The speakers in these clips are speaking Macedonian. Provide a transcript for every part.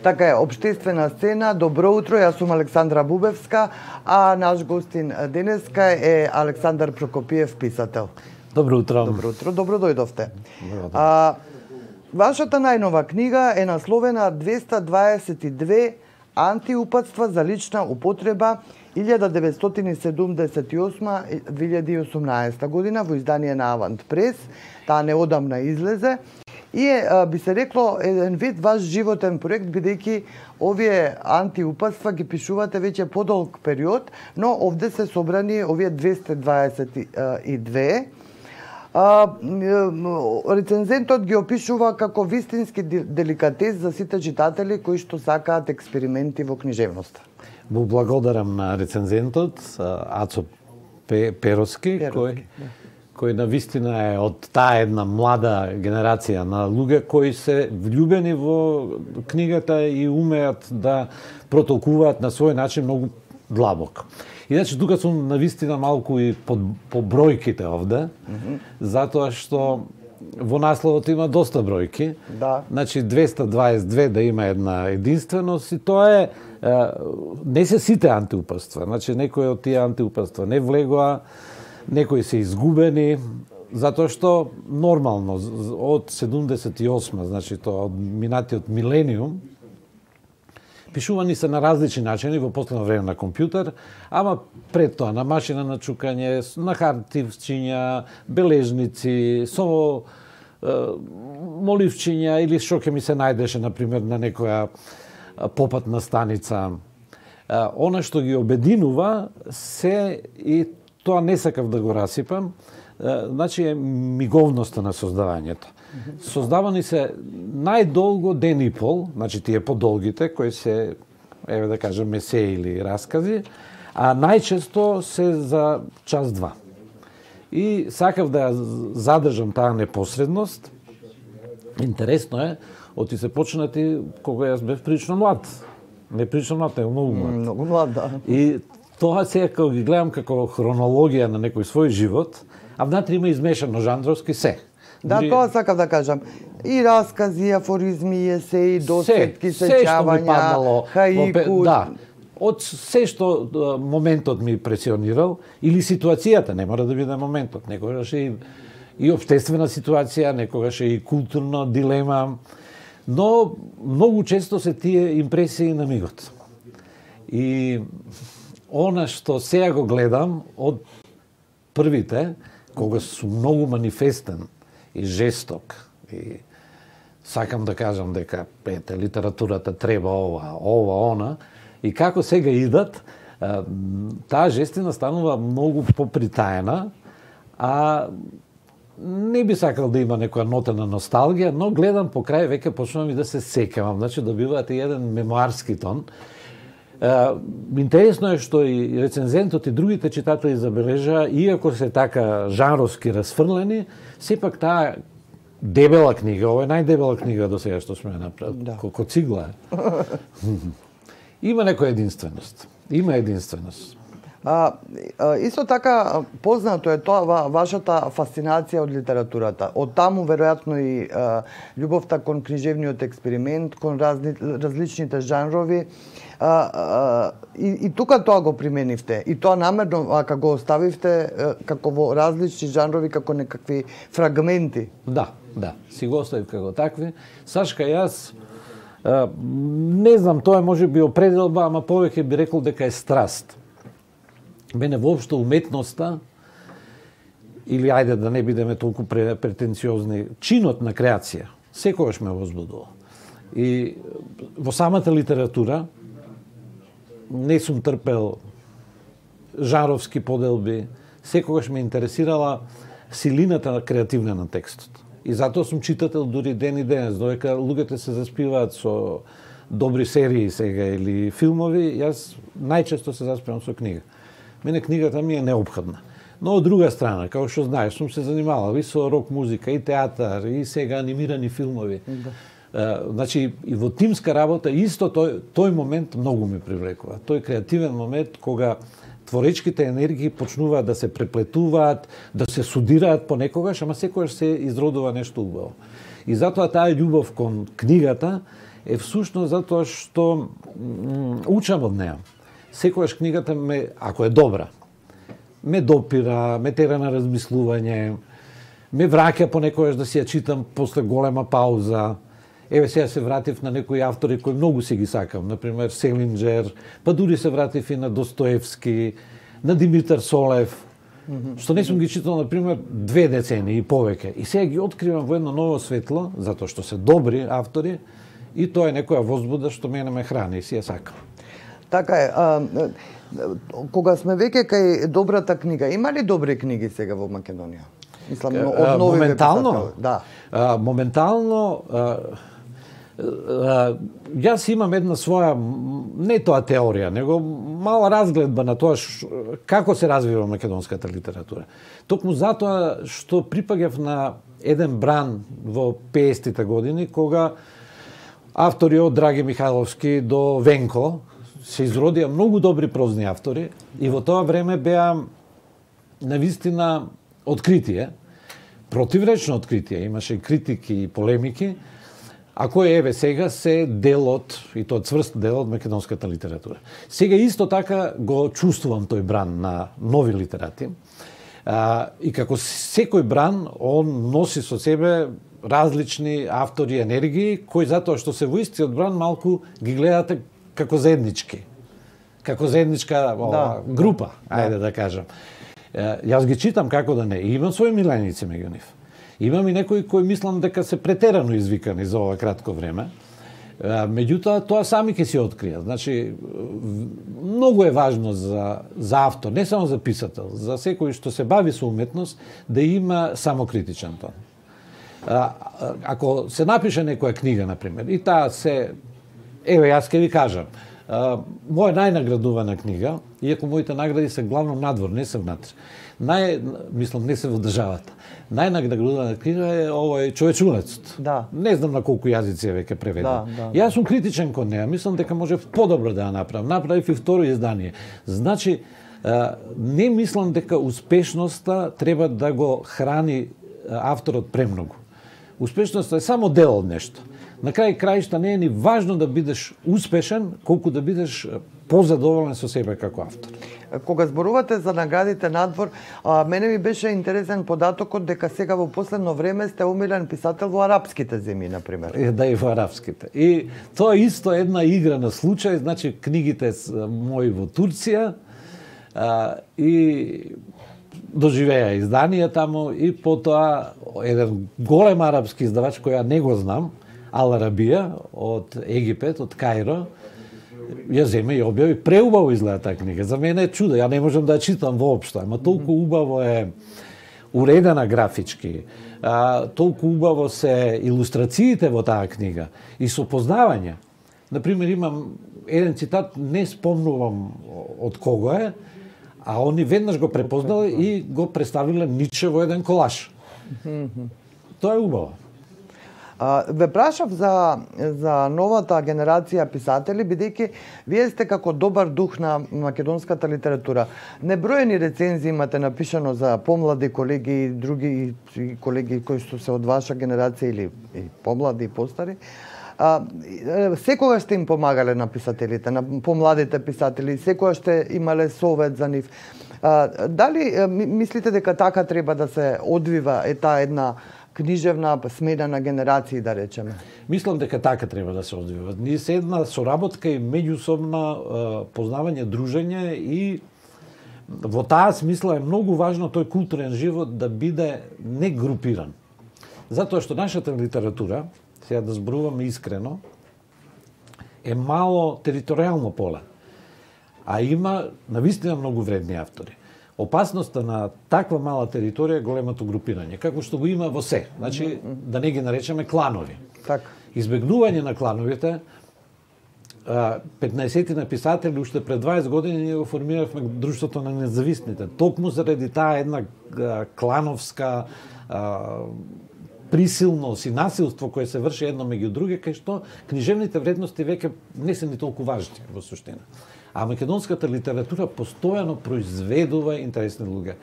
Така е, Обштествена сцена, добро утро, јас сум Александра Бубевска, а наш гостин денеска е Александар Прокопиев, писател. Добро утро. Добро утро, добро дојдовте. Вашата најнова книга е насловена 222 антиупатства за лична употреба 1978-2018 година во издание на Авант Прес. Таа неодамна излезе и би се рекло еден вид ваш животен проект, бидејќи овие антиупатства ги пишувате веќе подолг период, но овде се собрани овие 222. Рецензентот ги опишува како вистински деликатес за сите читатели кои што сакаат експерименти во книжевноста. Му благодарам на рецензентот Ацо Пероски, кој навистина е од таа една млада генерација на луѓе кои се влюбени во книгата и умеат да протолкуваат на свој начин многу длабоко. Иначе тука сум навистина малку и по бројките овде, затоа што во насловот има доста бројки. Да. Значи 222 да има една единственост и тоа е не се сите антиупатства. Значи некои од тие антиупатства не влегоа, некои се изгубени, затоа што нормално од 78, значи тоа од минатиот милениум, пишувани се на различни начини во последно време на компјутер, ама пред тоа на машина на чукање, на хартивчиња, бележници, со моливчиња или што ќе ми се најдеше, например, на некоја попатна станица. Она што ги обединува се, и тоа не сакав да го расипам, значи е миговноста на создавањето. Создавани се најдолго ден и пол, значи тие подолгите, кои се, еве да кажем, есе или раскази, а најчесто се за час-два. И сакав да задржам таа непосредност. Интересно е, оти се почнати кога јас бев прилично млад. Не прилично млад, не многу млад. Многу млад, да. И тоа сега кога ги гледам како хронологија на некој свој живот, а внатре има измешано жанровски се. Да, тоа сакав да кажам. И раскази, афоризми, есеи, досетки, сеќавања, хаику. Да. Од се што моментот ми пресионирал, или ситуацијата, не мора да биде моментот, некогаш и општествена ситуација, некогаш и културна дилема, но многу често се тие импресии на мигот. И она што сега го гледам од првите, кога сум многу манифестен и жесток, и сакам да кажам дека литературата треба ова, она, и како сега идат, таа жестина станува многу попритаена, а не би сакал да има некоја нота на носталгија, но гледам по крај веќе почнувам и да се сеќавам, значи добиваат и еден мемоарски тон. Интересно е што и рецензентот и другите читатели забележаа, иако се така жанровски расфрлени, сепак таа дебела книга, ова е најдебела книга до сега што сме направили, да. Колко цигла е. Има некоја единственост. Има единственост. Исто така познато е тоа вашата фасцинација од литературата. Од таму веројатно и љубовта кон книжевниот експеримент, кон различните жанрови. И тука тоа го применивте. И тоа намерно, ако го оставивте како во различни жанрови, како некакви фрагменти. Да, си го оставив како такви. Сашка, јас не знам, тоа може би определба, ама повеќе би рекол дека е страст. Мене воопшто уметноста, или ајде да не бидеме толку претенциозни, чинот на креација, секогаш ме возбудува. И во самата литература не сум трпел жанровски поделби, секогаш ме интересирала силината креативна на текстот. И затоа сум читател дури ден и денес, додека луѓето се заспиваат со добри серии сега или филмови, јас најчесто се заспивам со книга. Мене книгата ми е неопходна. Но од друга страна, како што знаеш, сум се занимавал и со рок музика, и театар, и сега анимирани филмови. Да. Значи, и во тимска работа, исто тој момент многу ме привлекува. Тој креативен момент кога творечките енергии почнуваат да се преплетуваат, да се судираат понекогаш, ама секогаш се изродува нешто убаво. И затоа таа љубов кон книгата е всушност затоа што учам од неа. Секогаш книгата ако е добра, ме допира, ме тера на размислување, ме враќа понекогаш да си ја читам после голема пауза. Еве сега се вратив на некои автори кои многу си ги сакам, например Селинџер, па дури се вратив и на Достоевски, на Димитар Солев, што не сум ги читал, например, 2 децении и повеќе. И сега ги откривам во едно ново светло, затоа што се добри автори, и тоа е некоја возбуда што мене ме храни и си ја сакам. Така е. Кога сме веќе кај добрата книга, има ли добри книги сега во Македонија? Мислам, од нови моментално, да. Моментално, јас имам една своја, не тоа теорија, него мала разгледба на тоа како се развива македонската литература. Токму затоа што припаѓав на еден бран во 50-тите години, кога автори од Драги Михайловски до Венко се изродија многу добри прозни автори и во тоа време беа навистина откритие, противречно откритие, имаше и критики и полемики, а кој еве сега се дел од, и тоа цврст дел од македонската литература. Сега исто така го чувствувам тој бран на нови литерати, и како секој бран, он носи со себе различни автори, енергии, кои затоа што се во истиот бран малку ги гледате како заеднички. Како заедничка група, ајде да кажам. Јас ги читам, како да не. И имам своји миленици меѓу нив. Имам и некои кои мислам дека се претерано извикани за ова кратко време. Меѓутоа, тоа сами ќе си откријат. Значи, многу е важно за автор, не само за писател, за секој што се бави со уметност, да има самокритичен тон. Ако се напише некоја книга, например, и таа се... Еве, јас ќе ви кажам, моја најнаградувана книга, иако моите награди се главно надвор, не се внатре. Мислам, не се во државата. Најнаградувана книга е овој Човечунецот. Да. Не знам на колку јазици е веќе преведен. Јас сум критичен кон неа, мислам дека може подобро да ја направам. Направив и второ издание. Значи, не мислам дека успешноста треба да го храни авторот премногу. Успешноста е само дел од нешто. На крај краишта не е ни важно да бидеш успешен, колку да бидеш позадоволен со себе како автор. Кога зборувате за наградите надвор, мене ми беше интересен податокот дека сега во последно време сте омилен писател во арапските земји, например. Да, и во арапските. И тоа исто една игра на случај, значи книгите мои во Турција и доживеа издание таму и потоа еден голем арапски издавач кој ја не го знам, Ал Арабија од Египет, од Кајро, ја земе и објави. Преубаво изгледа таа книга. За мене е чудо. Ја не можам да ја читам воопшто, ама толку убаво е уредена графички, толку убаво се илустрациите во таа книга и со познавање. Например, имам еден цитат, не спомнувам од кого е, а они веднаш го препознали и го представиле Ниче во еден колаж. Тоа е убаво. Ве прашав за новата генерација писатели, бидејќи вие сте како добар дух на македонската литература. Неброени рецензии имате напишано за помлади колеги и други колеги кои што се од ваша генерација или помлади и постари. Секогаш сте им помагале на писателите, на помладите писатели, секогаш сте имале совет за нив. Дали мислите дека така треба да се одвива таа една книжевна смена на генерации, да речеме? Мислам дека така треба да се одвива. Ние се една соработка и меѓусобна познавање, дружење и во таа смисла е многу важно тој културен живот да биде не групиран. Затоа што нашата литература, сега да зборуваме искрено, е мало територијално поле. А има навистина многу вредни автори. Опасноста на таква мала територија е големото групирање, како што го има во се. Значи, да не ги наречеме кланови. Така. Избегнување на клановите, 15 писатели уште пред 20 години ние го формиравме Друштвото на независните. Токму заради таа една клановска присилност и насилство кое се врши едно меѓу други, кај што книжевните вредности веќе не се ни толку важни во суштина. А македонската литература постојано произведува интересни луѓе.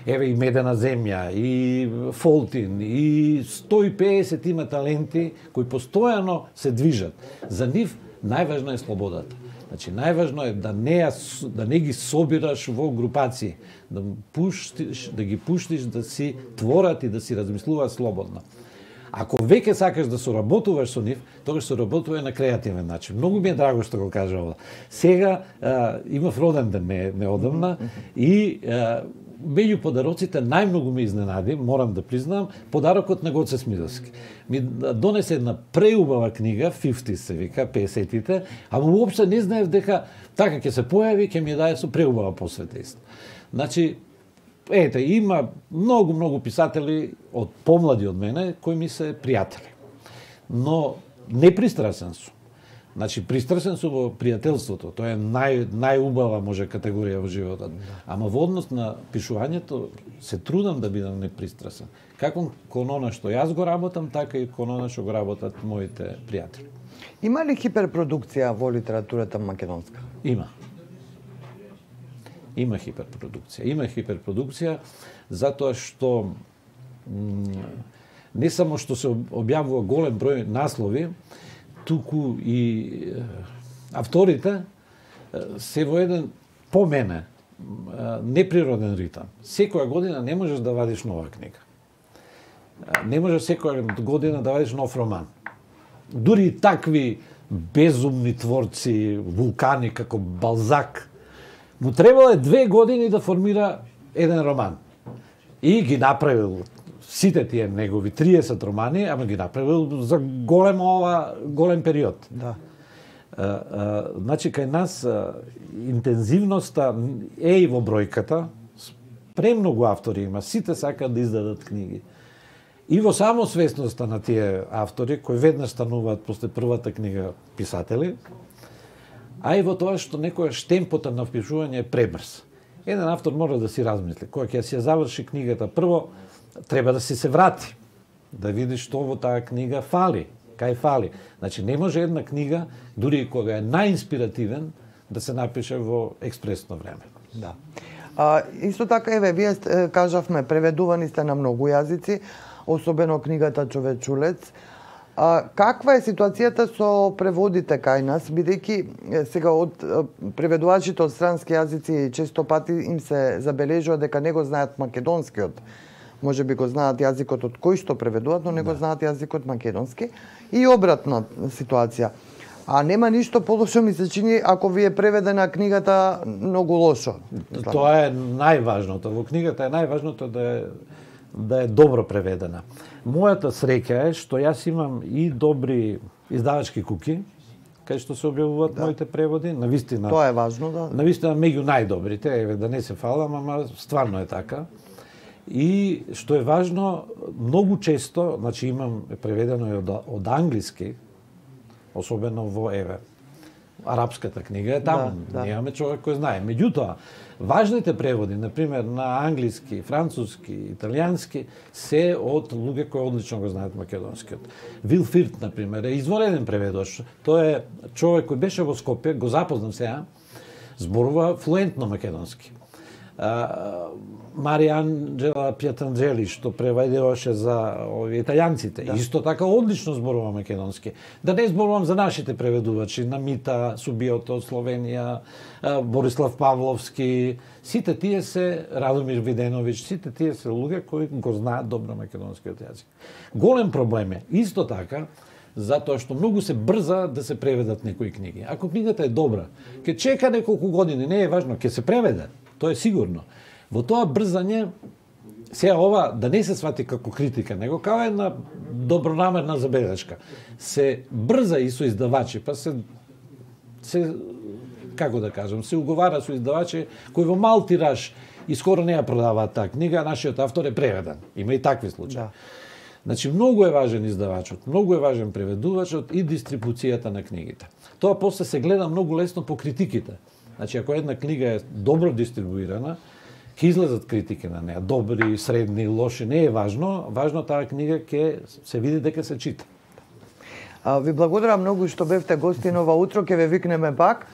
Еве и Медена земја, и Фолтин, и 150 има таленти кои постојано се движат. За нив најважно е слободата. Значи, најважно е да не ги собираш во групации, да ги пуштиш да си творат и да си размислуваат слободно. Ако веќе сакаш да соработуваш со нив, тогаш соработувај на креативен начин. Многу ми е драго што го кажа ова. Сега имав роден ден неодамна и меѓу подароците најмногу ме изненади, морам да признам, подарокот на Гоце Смиловски. Ми донесе една преубава книга, 50 се вика, 50-тите, ама уопште не знаев дека така ќе се појави, ќе ми даде со преубава посвета исто. Значи, ете, има многу писатели од помлади од мене кои ми се пријатели. Но не пристрасен сум. Значи, пристрасен сум во пријателството. Тоа е најубава може категорија во животот. Ама во однос на пишувањето се трудам да бидам непристрасен. Како кон она што јас го работам, така и кон она што го работат моите пријатели. Има ли хиперпродукција во литературата македонска? Има. Има хиперпродукција затоа што не само што се објавува голем број наслови, туку и авторите се во еден, по мене, неприроден ритам. Секоја година не можеш да вадиш нова книга. Не можеш секоја година да вадиш нов роман. Дури и такви безумни творци, вулкани како Балзак, му требало 2 години да формира еден роман. И ги направил сите тие негови 30 романи, ама ги направил за голем период. Да. Значи, кај нас интензивноста е и во бројката. Премногу автори има, сите сакаат да издадат книги. И во самосвесноста на тие автори, кои веднаш стануваат после првата книга писатели, а и во тоа што некојаш темпото на впишување е пребрз. Еден автор мора да си размисли. Кога ќе си ја заврши книгата, прво треба да си се врати, да види што во таа книга фали, кај фали. Значи, не може една книга, дури и кога е најинспиративен, да се напише во експресно време. Да. Исто така, еве, вие кажавме, преведувани сте на многу јазици, особено книгата Човечулец. Каква е ситуацијата со преводите кај нас, бидејќи сега од преведувачите од странски јазици често пати им се забележува дека не го знаат македонскиот. Може би го знаат јазикот од кој што преведуваат, но не го знаат јазикот македонски. И обратна ситуација. А нема ништо полошо, ми се чини, ако ви е преведена книгата многу лошо. Тоа е најважното. Во книгата е најважното да е добро преведена. Мојата среќа е што јас имам и добри издавачки куки, кај што се објавуваат моите преводи, навистина. Тоа е важно, да. Навистина меѓу најдобрите, еве да не се фалам, ама стварно е така. И што е важно, многу често, значи имам преведено и од англиски, особено во арапската книга е таму, немаме човек кој знае. Меѓутоа, важните преводи, например, на англиски, француски, италијански, се од луѓе кои одлично го знаат македонскиот. Вил Фирт, например, е извонреден преведувач. Тој е човек кој беше во Скопје, го запознам сега, зборува флуентно македонски. Марија Анџела Пјатанџели, што преведуваше за италијанците, исто така одлично зборува македонски. Да не зборувам за нашите преведувачи, Намита Субиото од Словенија, Борислав Павловски, сите тие се, Радомир Виденовиќ, сите тие се луѓе кои го знаат добро македонскиот јазик. Голем проблем е, исто така, затоа што многу се брза да се преведат некои книги. Ако книгата е добра, ќе чека неколку години, не е важно, ќе се преведе, тоа е сигурно. Во тоа брзање, сега ова да не се свати како критика, него како една добронамерна забелешка. Се брза и со издавачи, па се како да кажам, се уговара со издавачи кои во мал тираж и скоро не ја продаваат таа книга, а нашиот автор е преведен. Има и такви случаи. Да. Значи, многу е важен издавачот, многу е важен преведувачот и дистрибуцијата на книгите. Тоа после се гледа многу лесно по критиките. Значи, ако една книга е добро дистрибуирана, Ќе излезат критики на неа, добри, средни, лоши, не е важно. Важно таа книга ќе се види дека се чита. Ви благодарам многу што бевте гостин ова утро, ќе ве викнеме пак.